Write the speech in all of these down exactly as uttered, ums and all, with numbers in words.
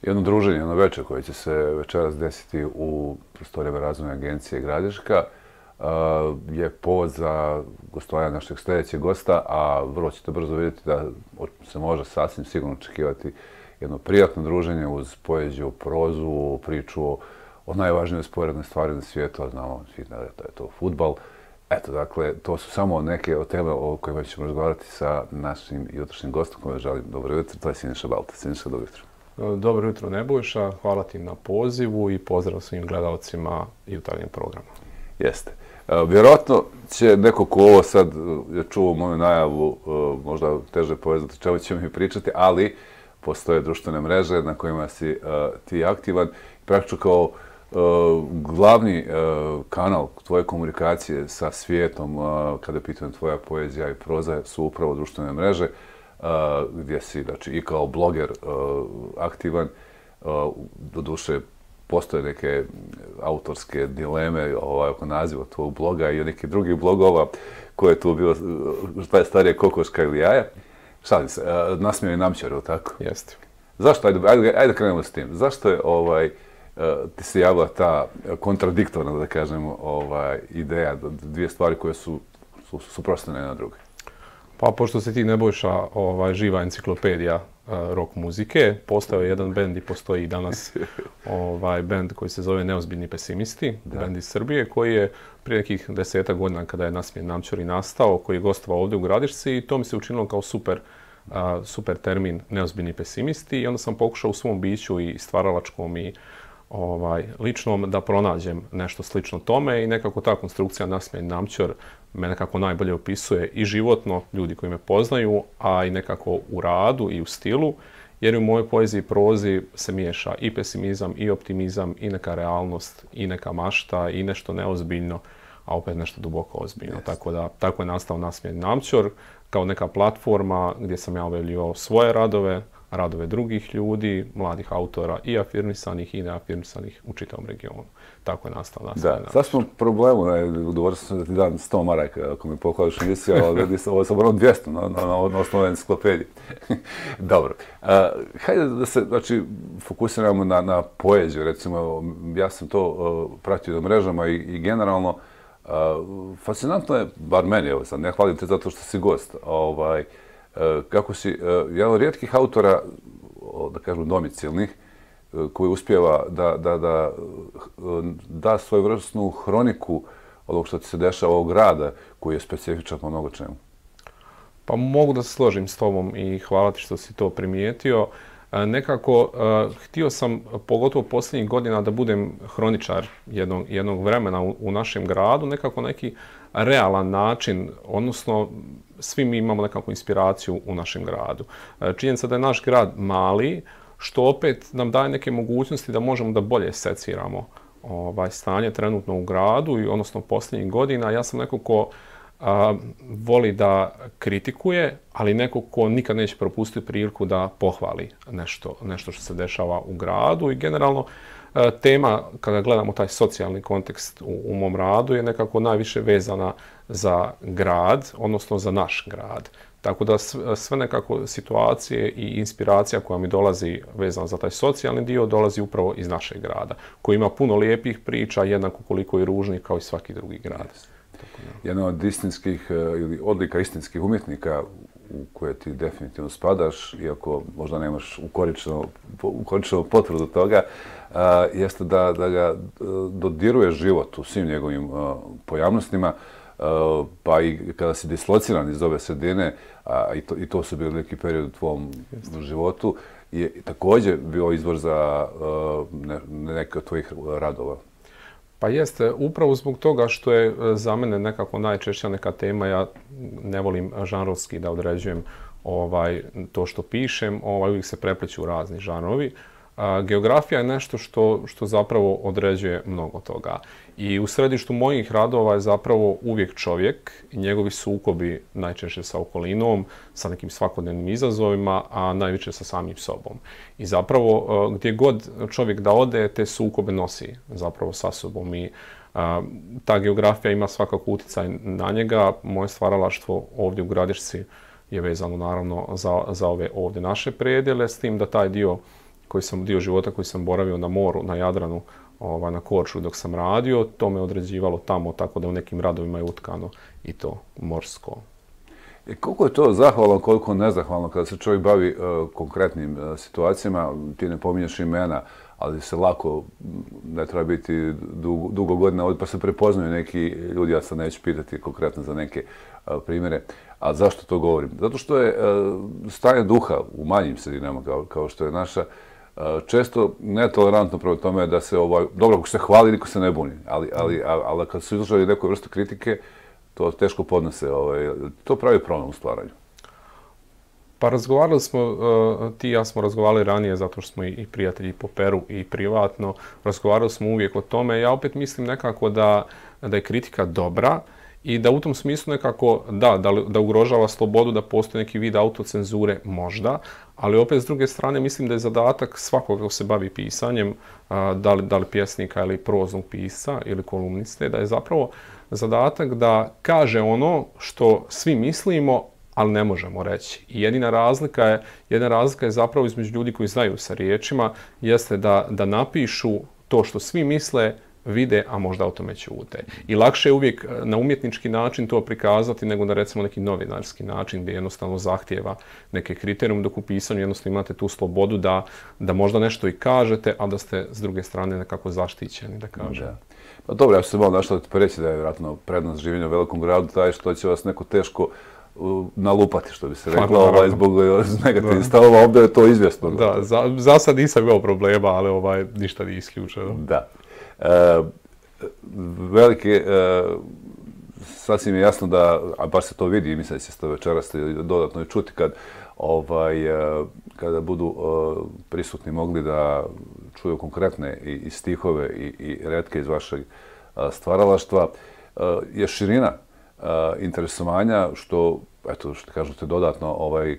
jedno druženje, jedno večer koje će se večeras desiti u prostorijama Razvojne agencije Gradiška je povod za gostovanje našeg sljedećeg gosta, a vrlo ćete brzo vidjeti da se može sasvim sigurno očekivati jedno prijatno druženje uz poeziju, prozu, priču o najvažnijoj sporednoj stvari na svijetu, a znamo svi da je to fudbal. Eto, dakle, to su samo neke od teme o kojima ćemo razgovarati sa našim jutrošnjim gostom kojima želim dobro jutro, to je Siniša Balta. Siniša, dobro jutro. Dobro jutro, Nebojša. Hvala ti na pozivu i pozdrav svim gledalcima jutarnjeg programa. Jeste. Vjerojatno će neko ko ovo sad je čuo moju najavu možda teže povezati o čemu ćemo mi pričati, ali postoje društvene mreže na kojima si ti aktivan. Praktično kao glavni kanal tvoje komunikacije sa svijetom kada je pitanje tvoja poezija i proza su upravo društvene mreže gdje si znači, i kao bloger aktivan. Doduše, postoje neke autorske dileme ovaj, oko naziva tvojeg bloga i nekih drugih blogova koje je tu bilo, šta je starije, kokoška ili jaja. Šalim se, nasmijao i namćar, ili tako? Jeste. Zašto, ajde, ajde, ajde krenemo s tim, zašto je ovaj, ti se javila ta kontradiktorna, da kažemo, ovaj, ideja, dvije stvari koje su, su suprotstavljene jedna drugoj? Pa, pošto se ti Nebojša ovaj, živa enciklopedija uh, rock muzike, postao je jedan bend i postoji i danas ovaj, bend koji se zove Neozbiljni pesimisti, da. Bend iz Srbije, koji je prije nekih desetak godina kada je Nasmijen Namćori nastao, koji je gostovao ovdje u Gradišci i to mi se učinilo kao super, uh, super termin Neozbiljni pesimisti i onda sam pokušao u svom biću i stvaralačkom i ovaj, ličnom da pronađem nešto slično tome i nekako ta konstrukcija Nasmijen Namćor me nekako najbolje opisuje i životno, ljudi koji me poznaju, a i nekako u radu i u stilu, jer u mojoj poeziji i prozi se miješa i pesimizam, i optimizam, i neka realnost, i neka mašta, i nešto neozbiljno, a opet nešto duboko ozbiljno. Yes. Tako da, tako je nastao Nasmijen Namćor, kao neka platforma gdje sam ja objavljivao svoje radove, radove drugih ljudi, mladih autora i afirmisanih i neafirmisanih u čitavom regionu. Tako je nastao Nasmijen Namćor. Da, sad smo problemu, udovorio sam da ti dam sto maraka ako mi pokladaš emisiju, ali ovo je samo ono dvjesto na, na, na osnovu enciklopedije. Dobro. Uh, hajde da se znači, fokusiramo na, na poeziju, recimo, ja sam to uh, pratio na mrežama i, i generalno uh, fascinantno je, bar meni, evo sad, ne hvalim te zato što si gost, ovaj, kako si jedan od rijetkih autora, da kažem domicilnih, koji uspijeva da da, da, da svojevrsnu hroniku ovog što ti se dešava ovog grada, koji je specifičan po mnogo čemu. Pa mogu da se složim s tobom i hvala ti što si to primijetio. Nekako, htio sam, pogotovo posljednjih godina, da budem hroničar jednog, jednog vremena u, u našem gradu, nekako neki realan način, odnosno svi mi imamo nekakvu inspiraciju u našem gradu. Činjenica da je naš grad mali, što opet nam daje neke mogućnosti da možemo da bolje seciramo ovaj, stanje trenutno u gradu, i odnosno posljednjih godina. Ja sam neko ko a, voli da kritikuje, ali neko ko nikad neće propustiti priliku da pohvali nešto, nešto što se dešava u gradu i generalno tema, kada gledamo taj socijalni kontekst u, u mom radu, je nekako najviše vezana za grad, odnosno za naš grad. Tako da sve nekako situacije i inspiracija koja mi dolazi vezana za taj socijalni dio, dolazi upravo iz našeg grada, koji ima puno lijepih priča, jednako koliko i ružnih kao i svaki drugi grad. Tako da. Jedan od istinskih ili odlika istinskih umjetnika u koje ti definitivno spadaš, iako možda nemaš ukoričenu potvrdu toga, uh, jeste da, da ga dodiruje život u svim njegovim uh, pojavnostima, uh, pa i kada si dislociran iz ove sredine, a i to, i to su bili neki period u tvom jeste. životu, je također bio izvor za uh, ne, neke od tvojih radova. Pa jeste, upravo zbog toga što je za mene nekako najčešća neka tema, ja ne volim žanrovski da određujem ovaj, to što pišem, ovaj, uvijek se prepleću razni žanrovi. A, geografija je nešto što, što zapravo određuje mnogo toga. I u središtu mojih radova je zapravo uvijek čovjek i njegovi sukobi najčešće sa okolinom, sa nekim svakodnevnim izazovima, a najviše sa samim sobom. I zapravo gdje god čovjek da ode, te sukobe nosi zapravo sa sobom. I a, ta geografija ima svakako utjecaj na njega. Moje stvaralaštvo ovdje u Gradišci je vezano naravno za, za ove ovdje naše predjele, s tim da taj dio koji sam, dio života koji sam boravio na moru, na Jadranu, ovaj, na Korčuli dok sam radio, to me određivalo tamo, tako da u nekim radovima je utkano i to morsko. I koliko je to zahvalno, koliko nezahvalno kada se čovjek bavi uh, konkretnim uh, situacijama, ti ne pominješ imena, ali se lako, ne treba biti dugo, dugo godina ovdje, pa se prepoznaju neki ljudi, ja sad neću pitati konkretno za neke uh, primjere. A zašto to govorim? Zato što je uh, stanje duha u manjim sredinama, kao, kao što je naša, uh, često netolerantno prema tome da se, ovaj, dobro, ako se hvali, niko se ne buni, ali, ali, ali, ali kad su izložili nekoj vrstu kritike, to teško podnose. Ovaj, to pravi problem u stvaranju. Pa razgovarali smo, uh, ti i ja smo razgovarali ranije zato što smo i, i prijatelji po Peru i privatno. Razgovarali smo uvijek o tome. Ja opet mislim nekako da, da je kritika dobra i da u tom smislu nekako, da, da, da ugrožava slobodu, da postoji neki vid autocenzure, možda, ali opet s druge strane mislim da je zadatak svakoga ko se bavi pisanjem, uh, da li, da li pjesnika ili proznog pisca ili kolumniste, da je zapravo zadatak da kaže ono što svi mislimo, ali ne možemo reći. I jedina razlika je, jedina razlika je zapravo između ljudi koji znaju sa riječima, jeste da, da napišu to što svi misle, vide, a možda o tome ćute. I lakše je uvijek na umjetnički način to prikazati nego na recimo neki novinarski način gdje jednostavno zahtijeva neke kriterijume, dok u pisanju jednostavno imate tu slobodu da, da možda nešto i kažete, a da ste s druge strane nekako zaštićeni, da kažem. Da. Pa dobro, ja ću se malo našao da ti reći da je vjerojatno prednost življenja u velikom gradu taj što će vas neko teško uh, nalupati, što bi se reklo, ovaj, zbog negativnih stavova, ovdje je to izvjesno. Da, za, za sad nisam imao problema, ali ovaj, ništa nije isključeno. Da. E, velike, e, sasvim je jasno da, a baš se to vidi, mislim da će se to večeras dodatno i čuti kad, ovaj, e, kada budu e, prisutni mogli da čuju konkretne i, i stihove i, i retke iz vašeg a, stvaralaštva, a, je širina a, interesovanja što, eto, što kažete, dodatno ovaj,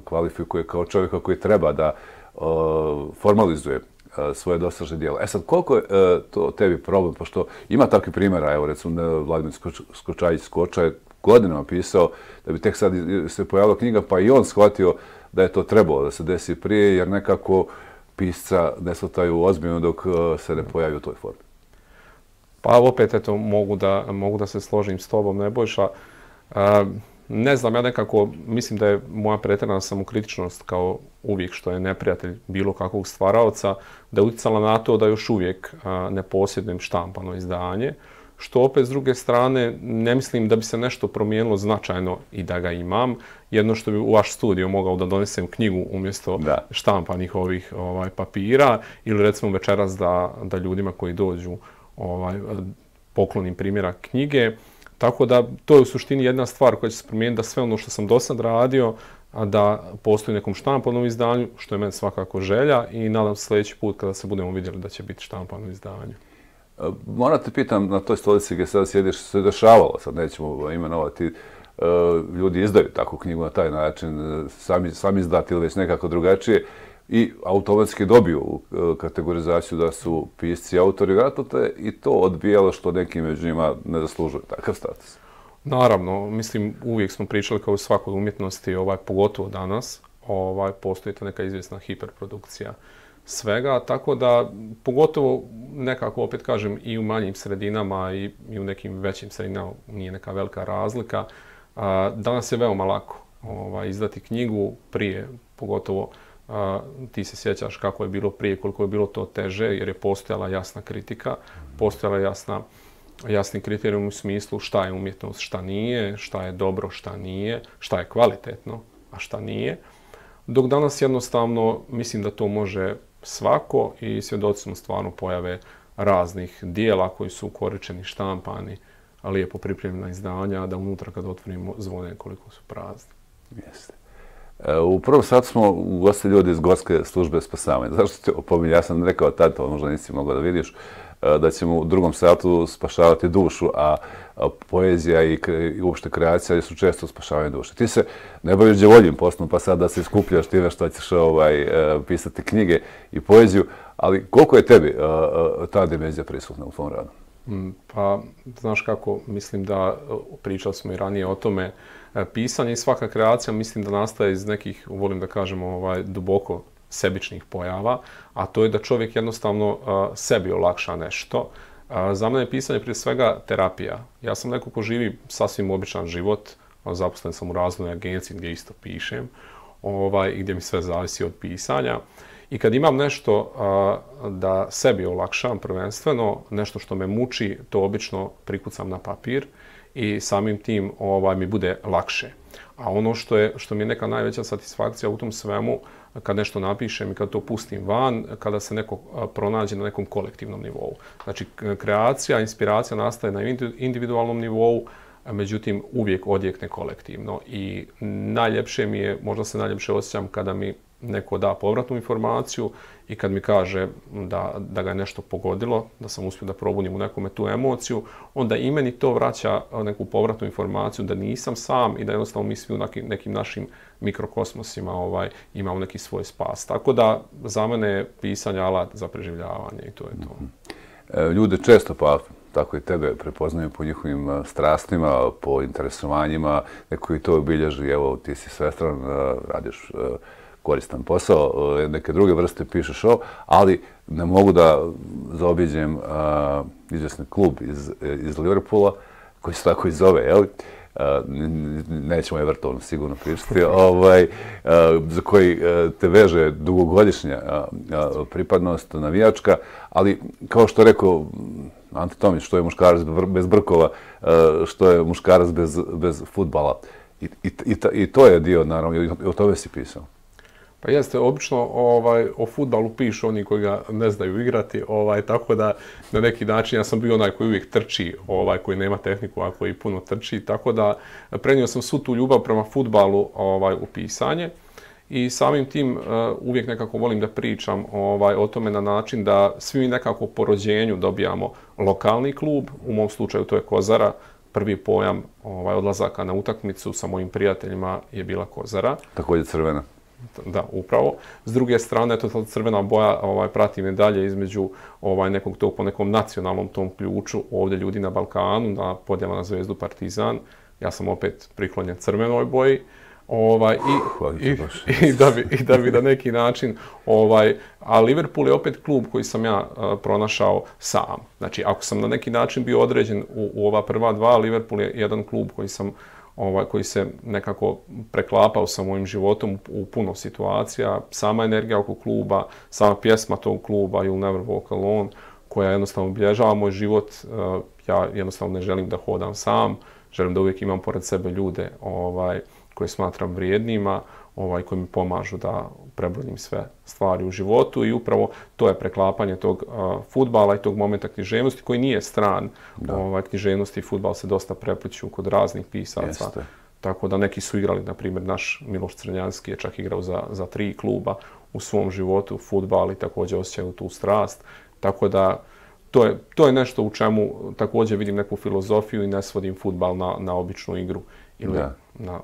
kvalifikuje kao čovjeka koji treba da a, formalizuje a, svoje dosažne dijelo. E sad, koliko je a, to tebi problem, pošto ima takvi primjera, evo recimo Vladimir Skočajić Skoča je godinama pisao da bi tek sad se pojavila knjiga, pa i on shvatio da je to trebalo da se desi prije, jer nekako pisca ne shvataju ozbiljno dok se ne pojavi u toj formi. Pa opet, eto, mogu da, mogu da se složim s tobom, Nebojša. E, ne znam, ja nekako mislim da je moja pretjerana samokritičnost kao uvijek što je neprijatelj bilo kakvog stvaraoca, da je utjecala na to da još uvijek a, ne posjedujem štampano izdanje, što opet s druge strane ne mislim da bi se nešto promijenilo značajno i da ga imam. Jedno što bi u vaš studio mogao da donesem knjigu umjesto da. štampanih ovih ovaj, papira ili recimo večeras da, da ljudima koji dođu ovaj, poklonim primjerak knjige. Tako da to je u suštini jedna stvar koja će se promijeniti, da sve ono što sam do sad radio, a da postoji nekom štampanom izdanju, što je meni svakako želja i nadam se sljedeći put kada se budemo vidjeli da će biti štampano izdanje. Moram te pitam, na toj stolici gdje sada sjediš, se dešavalo, sad nećemo imenovati, ljudi izdaju takvu knjigu na taj način, sami, sami izdati ili već nekako drugačije i automatski dobiju kategorizaciju da su pisci i autori. Vjerojatno te i to odbijalo što neki među njima ne zaslužuju takav status. Naravno, mislim, uvijek smo pričali kao u svakoj umjetnosti, ovaj, pogotovo danas, ovaj, postoji ta neka izvjesna hiperprodukcija svega, tako da pogotovo nekako, opet kažem, i u manjim sredinama i, i u nekim većim sredinama nije neka velika razlika. A, danas je veoma lako ovaj, izdati knjigu prije, pogotovo a, ti se sjećaš kako je bilo prije, koliko je bilo to teže, jer je postojala jasna kritika, postojala jasna, jasni kriterijum u smislu šta je umjetnost, šta nije, šta je dobro, šta nije, šta je kvalitetno, a šta nije. Dok danas jednostavno mislim da to može svako i svjedoci smo stvarno pojave raznih dijela koji su ukoričeni, štampani, lijepo pripremljena izdanja, da unutra kad otvorimo zvone koliko su prazni. Jeste. U prvom satu smo ugostili ljudi iz Gorske službe spasavanja. Zašto te opominje? Ja sam rekao tad, to možda nisi mogao da vidiš, da ćemo u drugom satu spašavati dušu, a poezija i, i uopšte kreacija su često spašavanje duše. Ti se ne baviš djevoljim poslom, pa sad da se iskupljaš time što ćeš ovaj, pisati knjige i poeziju, ali koliko je tebi ta dimenzija prisutna u tvom radu? Pa, znaš kako, mislim da, pričali smo i ranije o tome, pisanje i svaka kreacija mislim da nastaje iz nekih, volim da kažemo, ovaj, duboko sebičnih pojava, a to je da čovjek jednostavno sebi olakša nešto. Za mene je pisanje prije svega terapija. Ja sam neko ko živi sasvim običan život, zaposlen sam u razvojnoj agenciji gdje isto pišem, ovaj, i gdje mi sve zavisi od pisanja. I kad imam nešto a, da sebi olakšam prvenstveno, nešto što me muči, to obično prikucam na papir i samim tim ovaj, mi bude lakše. A ono što, je, što mi je neka najveća satisfakcija u tom svemu, kad nešto napišem i kad to pustim van, kada se neko pronađe na nekom kolektivnom nivou. Znači, kreacija, inspiracija nastaje na individualnom nivou, međutim, uvijek odjekne kolektivno. I najljepše mi je, možda se najljepše osjećam kada mi neko da povratnu informaciju i kad mi kaže da, da ga je nešto pogodilo, da sam uspio da probudim u nekome tu emociju, onda i meni to vraća neku povratnu informaciju da nisam sam i da jednostavno mi svi u nekim, nekim našim mikrokosmosima ovaj, imamo neki svoj spas. Tako da za mene je pisanje alat za preživljavanje i to je to. Mm-hmm. Ljude često, pa tako i tebe, prepoznaju po njihovim strastima, po interesovanjima, neko i to obilježi, evo ti si svestran, radiš koristan posao, neke druge vrste pišeš ovo, ali ne mogu da zaobiđem uh, izvjesni klub iz, iz Liverpoola, koji se tako i zove, jel? Uh, nećemo je vrtovno sigurno pričati, ovaj, uh, za koji uh, te veže dugogodišnja uh, uh, pripadnost navijačka, ali kao što rekao Ante Tomić, što je muškarac bez brkova, uh, što je muškarac bez, bez fudbala. I, i, i, I to je dio, naravno, i o tome si pisao. Pa jeste, obično ovaj, o fudbalu pišu oni koji ga ne znaju igrati, ovaj, tako da na neki način ja sam bio onaj koji uvijek trči, ovaj, koji nema tehniku, a koji puno trči, tako da prenio sam svu tu ljubav prema fudbalu ovaj, u pisanje i samim tim uh, uvijek nekako volim da pričam ovaj, o tome na način da svi mi nekako po rođenju dobijamo lokalni klub, u mom slučaju to je Kozara, prvi pojam ovaj, odlazaka na utakmicu sa mojim prijateljima je bila Kozara. Također crvena. Da, upravo. S druge strane, to ta crvena boja ovaj, prati me dalje između ovaj, nekog tog po nekom nacionalnom tom ključu. Ovdje ljudi na Balkanu, na podjela na Zvezdu Partizan. Ja sam opet priklonjen crvenoj boji. Ovaj, i, i, i, da bi, I da bi na neki način... Ovaj, a Liverpool je opet klub koji sam ja uh, pronašao sam. Znači, ako sam na neki način bio određen u, u ova prva dva, Liverpool je jedan klub koji sam Ovaj, koji se nekako preklapao sa mojim životom u puno situacija. Sama energija oko kluba, sama pjesma tog kluba You'll Never Walk Alone, koja jednostavno obilježava moj život. Ja jednostavno ne želim da hodam sam, želim da uvijek imam pored sebe ljude ovaj, koje smatram vrijednima, ovaj, koji mi pomažu da prebrodim sve stvari u životu i upravo to je preklapanje tog uh, fudbala i tog momenta književnosti koji nije stran. Ovaj, književnosti i fudbal se dosta prepliću kod raznih pisaca. Jeste. Tako da neki su igrali, na primjer naš Miloš Crnjanski je čak igrao za, za tri kluba u svom životu, fudbal i također osjećaju tu strast. Tako da to je, to je nešto u čemu također vidim neku filozofiju i ne svodim fudbal na, na običnu igru ili da. na...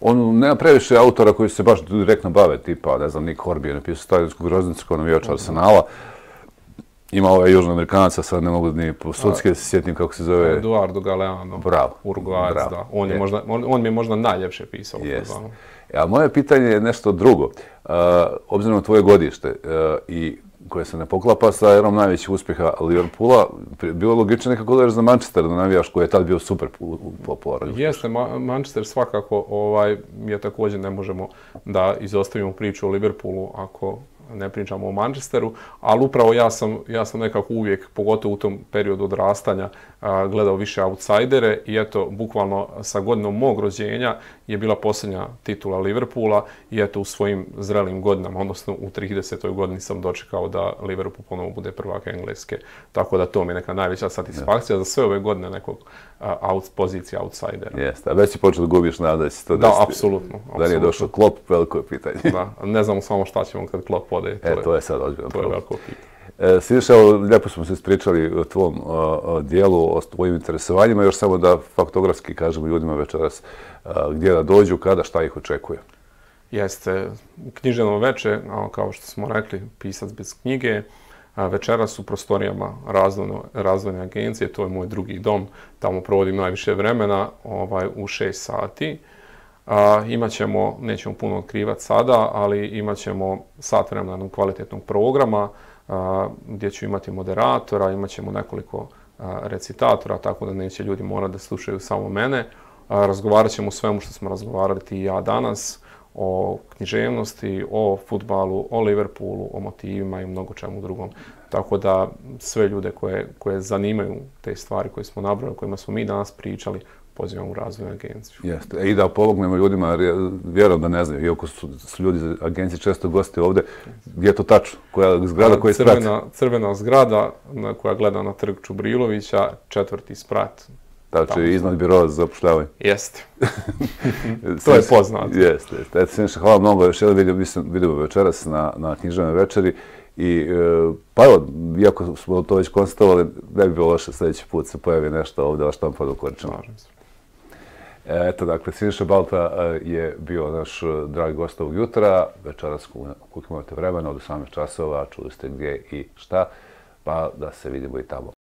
On nema previše autora koji se baš direktno bave, tipa, ne znam, Nick Horby je napisao Staljensku groznicu kao navijač Arsenala. Ima ovaj južnoamerikanaca, sad ne mogu ni po sudske se sjetim kako se zove. Eduardo Galeano, Bravo. Uruguajac, Bravo. Da. On, je je. Možda, on, on mi je možda najljepše pisao. Jest. A moje pitanje je nešto drugo. Uh, obzirom na tvoje godište uh, i koje se ne poklapa sa erom najvećih uspjeha Liverpoola, bilo je logično nekako da za Manchester da navijaš koji je tad bio super popularan. Jeste, Ma Manchester svakako ovaj, je također ne možemo da izostavimo priču o Liverpoolu ako ne pričamo o Manchesteru, ali upravo ja sam, ja sam nekako uvijek, pogotovo u tom periodu odrastanja, a, gledao više outsidere i eto, bukvalno sa godinom mog rođenja je bila posljednja titula Liverpoola i eto, u svojim zrelim godinama, odnosno u tridesetoj godini sam dočekao da Liverpool ponovo bude prvak Engleske. Tako da to mi je neka najveća satisfakcija yes. za sve ove godine nekog a, out, pozicije outsidera. Jeste, a već si počeo da gubiš nada da si to da, apsolutno. Da li je došao Klopp, veliko je pitanje. Da, ne znamo samo šta ćemo kad Klopp ode. To e, je, to je sad ozbiljno. To je veliko pitanje. E, Svidiš, evo, lijepo smo se ispričali o tvom o, dijelu, o tvojim interesovanjima, još samo da faktografski kažemo ljudima večeras a, gdje da dođu, kada, šta ih očekuje. Jeste, književno veče, kao što smo rekli, pisac bez knjige, večeras u prostorijama razvojne, razvojne agencije, to je moj drugi dom, tamo provodim najviše vremena, ovaj, u šest sati. A, imat ćemo, nećemo puno otkrivati sada, ali imat ćemo sat vremena jednog kvalitetnog programa a, gdje ću imati moderatora, imat ćemo nekoliko a, recitatora, tako da neće ljudi morati da slušaju samo mene. A, razgovarat ćemo o svemu što smo razgovarali ti i ja danas, o književnosti, o fudbalu, o Liverpoolu, o motivima i mnogo čemu drugom. Tako da sve ljude koje, koje zanimaju te stvari koje smo nabrali, o kojima smo mi danas pričali, pozivam u razvojnu agenciju. Jeste. I da pomognemo ljudima, jer vjerujem da ne znaju, iako su, su ljudi iz agencije često gosti ovdje, gdje je to tačno? Koja zgrada, koji sprat? Crvena, crvena zgrada na, koja gleda na trg Čubrilovića, četvrti sprat. Znači, iznad biroa za zapošljavanje. Jeste. To je poznato. Jeste, jeste. Eto, Siniša, hvala mnogo. Još jedan vidio, vidimo večeras na, na književnoj večeri. I, e, pa evo, iako smo to već konstatovali, ne bi bilo loše sljedeći put se pojavi nešto ovdje, a štampano koričeno. Slažem se. Eto, dakle, Siniša Balta je bio naš dragi gost ovog jutra. Večeras, koliko imate vremena, od osamnaest časova, čuli ste gdje i šta, pa da se vidimo i tamo.